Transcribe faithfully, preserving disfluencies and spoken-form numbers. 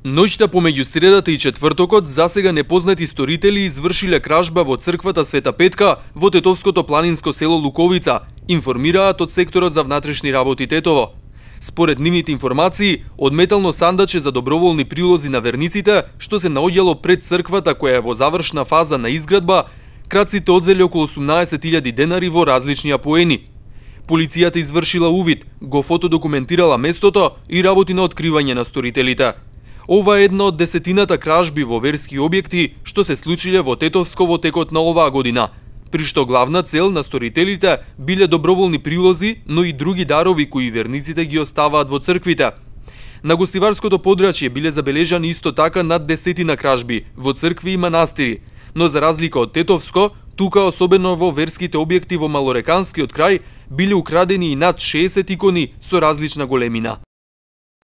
Ноќта помеѓу средата и четвртокот засега непознати сторители извршиле кражба во црквата Света Петка во тетовското планинско село Луковица, информираат од секторот за внатрешни работи Тетово. Според нивните информации, од метално сандаче за доброволни прилози на верниците, што се наоѓало пред црквата која е во завршна фаза на изградба, крадците одзели околу осумнаесет илјади денари во различни апоени. Полицијата извршила увид, го фотодокументирала местото и работи на откривање на сторителите. Ова е една од десетината кражби во верски објекти што се случиле во Тетовско во текот на оваа година, при што главна цел на сторителите биле доброволни прилози, но и други дарови кои верниците ги оставаат во црквите. На гостиварското подрачје биле забележани исто така над десетина кражби во цркви и манастири, но за разлика од Тетовско, тука особено во верските објекти во Малореканскиот крај биле украдени и над шеесет икони со различна големина.